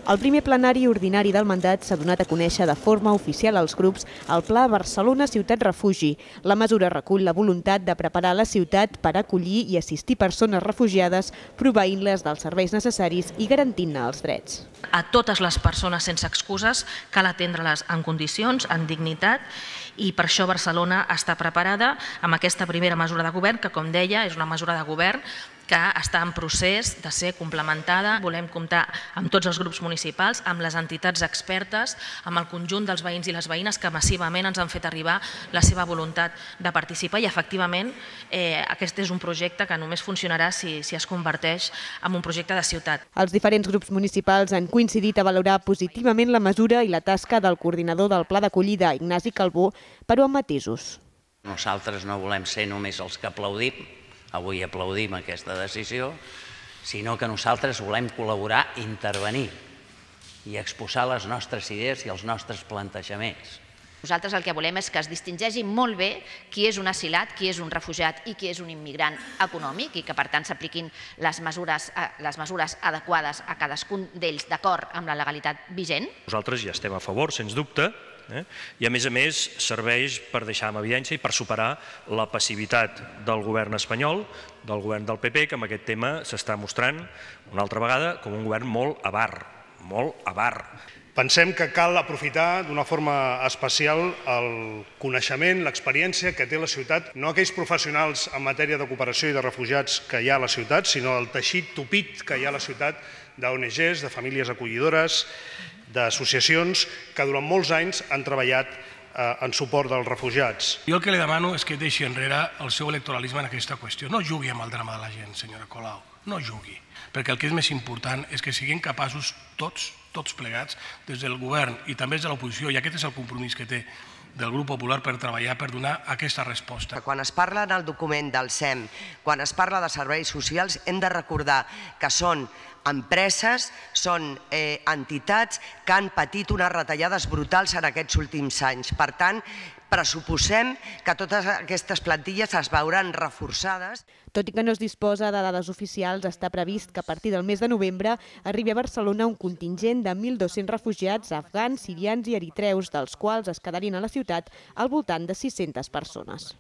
El primer plenari ordinari del mandat s'ha donat a conèixer de forma oficial als grups el Pla Barcelona Ciutat Refugi. La mesura recull la voluntat de preparar la ciutat per acollir i assistir persones refugiades, proveint-les dels serveis necessaris i garantint-ne els drets. A totes les persones sense excuses cal atendre-les en condicions, en dignitat, i per això Barcelona està preparada amb aquesta primera mesura de govern, que, com deia, és una mesura de govern que està en procés de ser complementada. Volem comptar amb tots els grups municipals, amb les entitats expertes, amb el conjunt dels veïns i les veïnes que massivament ens han fet arribar la seva voluntat de participar i, efectivament, aquest és un projecte que només funcionarà si es converteix en un projecte de ciutat. Els diferents grups municipals han coincidit a valorar positivament la mesura i la tasca del coordinador del Pla d'Acollida, Ignasi Calbó, però amb matisos. Nosaltres no volem ser només els que aplaudim, avui aplaudim aquesta decisió, sinó que nosaltres volem col·laborar, intervenir i exposar les nostres idees i els nostres plantejaments. Nosaltres el que volem és que es distingeixi molt bé qui és un asilat, qui és un refugiat i qui és un immigrant econòmic i que, per tant, s'apliquin les mesures adequades a cadascun d'ells d'acord amb la legalitat vigent. Nosaltres ja estem a favor, sens dubte, i a més serveix per deixar en evidència i per superar la passivitat del govern espanyol, del govern del PP, que amb aquest tema s'està mostrant una altra vegada com un govern molt avar, molt avar. Pensem que cal aprofitar d'una forma especial el coneixement, l'experiència que té la ciutat, no aquells professionals en matèria de cooperació i de refugiats que hi ha a la ciutat, sinó el teixit tupit que hi ha a la ciutat d'ONGs, de famílies acollidores, d'associacions que durant molts anys han treballat en suport dels refugiats. Jo el que li demano és que deixi enrere el seu electoralisme en aquesta qüestió. No jugui amb el drama de la gent, senyora Colau, no jugui. Perquè el que és més important és que siguin capaços tots plegats, des del govern i també des de l'oposició, i aquest és el compromís que té del grup popular per treballar, per donar aquesta resposta. Quan es parla en el document del SEM, quan es parla de serveis socials, hem de recordar que són empreses, són entitats que han patit unes retallades brutals en aquests últims anys. Per tant, pressuposem que totes aquestes plantilles es veuran reforçades. Tot i que no es disposa de dades oficials, està previst que a partir del mes de novembre arribi a Barcelona un contingent de 1.200 refugiats afgans, sirians i eritreus, dels quals es quedarien a la ciutat al voltant de 600 persones.